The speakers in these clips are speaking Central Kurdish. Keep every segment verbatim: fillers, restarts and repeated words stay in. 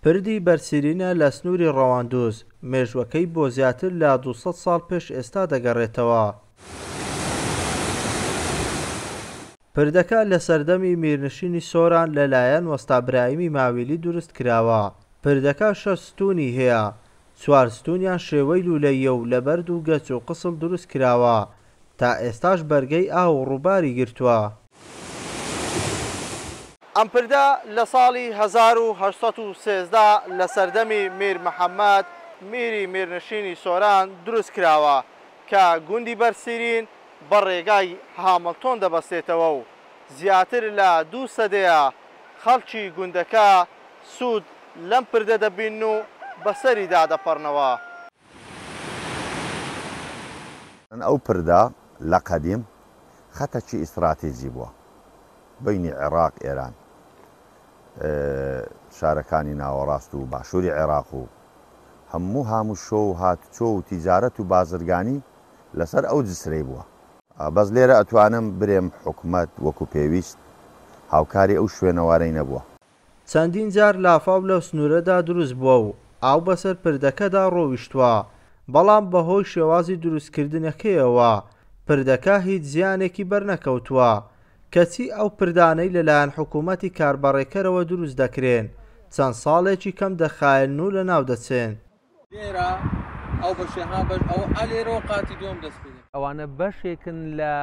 پردی بەرسیرینە لە سنووری ڕەواندوز، مێژووەکەی بۆ زیاتر لە دوو سەد ساڵ پێش ئێستا دەگەڕێتەوە. پردەکە لە سەردەمی میرنشینی سۆران لەلایەن وەستا برایمی ماویلی دروست کراوە. پردەکە شەش ستونی هەیە، چوار ستونیان شێوەی لولەیە و لە بەرد و گەچ و قسڵ دروست کراوە، تا ئێستاش بەرگەی ئاو و ڕووباری گرتووە. ئەم پردە لە ساڵی هەزار و هەشت سەد و سێزدە لە سەردەمی میر محەممەد میری میرنشینی سۆران دروست کراوە کە گوندی بەرسیرین بە ڕێگای هامڵتۆن دەبەستێتەوە و زیاتر لە دوو سەدەیە خەڵکی گوندەکە سوود لەم پردە دەبین و بەسەریدا دەپەڕنەوە. ئەو پردە لە قەدیم خەتەکی ئیستراتیجی بووە بینی عێراق ئێران، شارەکانی ناوەڕاست و باشووری عێراق و هەموو هاموشۆ و هاتوچۆ و تیجارەت و بازرگانی لەسەر ئەو جسرەی بووە. بەس لێرە ئەتوانم برێم حکومەت وەکو پێویست هاوکاری ئەو شوێنەوارەی نەبووە. چەندین جار لافاو لەو سنوورەدا دروست بووە و ئاو بەسەر پردەکەدا ڕۆیشتووە، بەڵام بەهۆی شێوازی دروستکردنەکەیەوە پردەکە هیچ زیانێکی بەرنەکەوتووە. کەچی ئەو پردانەی لەلایەن حکوومەتی کاربەڕێکەرەوە دروست دەکرێن چەند ساڵێکی کەم دەخایەن و لەناو دەچێن. لێرە ئەو بەشێ ها بەش ئەو ئەلێرەوە قاتی دووەم دەست پێ دەکەن. ئەوانە بەشێکن لە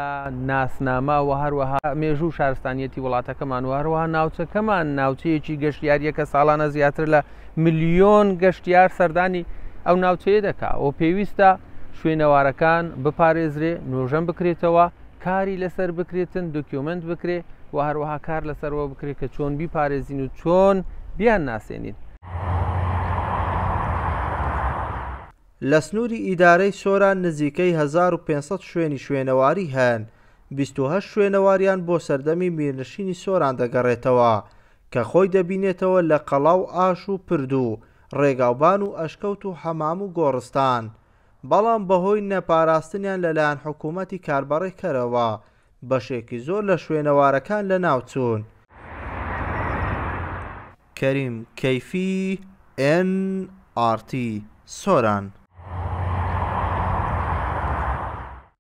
ناسنامە و هەروەها مێژوو و شارستانیەتی وڵاتەکەمان و هەروەها ناوچەکەمان ناوچەیەکی گەشتیاریە کە ساڵانە زیاتر لە ملیۆن گەشتیار سەردانی ئەو ناوچەیە دەکا و پێویستە شوێنەوارەکان بپارێزرێ، نۆژەن بکرێتەوە، کاری لەسەر بکرێتن، document بکرێ و هەروەها کار لەسەرەوە بکرێت کە چۆن بیپارێزین و چۆن بیان ناسێنین. لە سنووری ئیدارەی سۆران نزیکەی هەزار و پێنج سەد شوێنی شوێنەواری هەن، بیست و هەشت شوێنەواریان بۆ سەردەمی میرنشینی سۆران دەگەڕێتەوە کە خۆی دەبینێتەوە لە قەڵا و ئاش و پرد و ڕێگاوبان و ئەشکەوت و حەمام و گۆڕستان، بەڵام بەهۆی نەپاراستنیان لەلایەن حکوومەتی کاربەڕێکەرەوە بەشێکی زۆر لە شوێنەوارەکان لەناوچوون. کەریم کەیفی، ئێن ئاڕ تی، سۆران.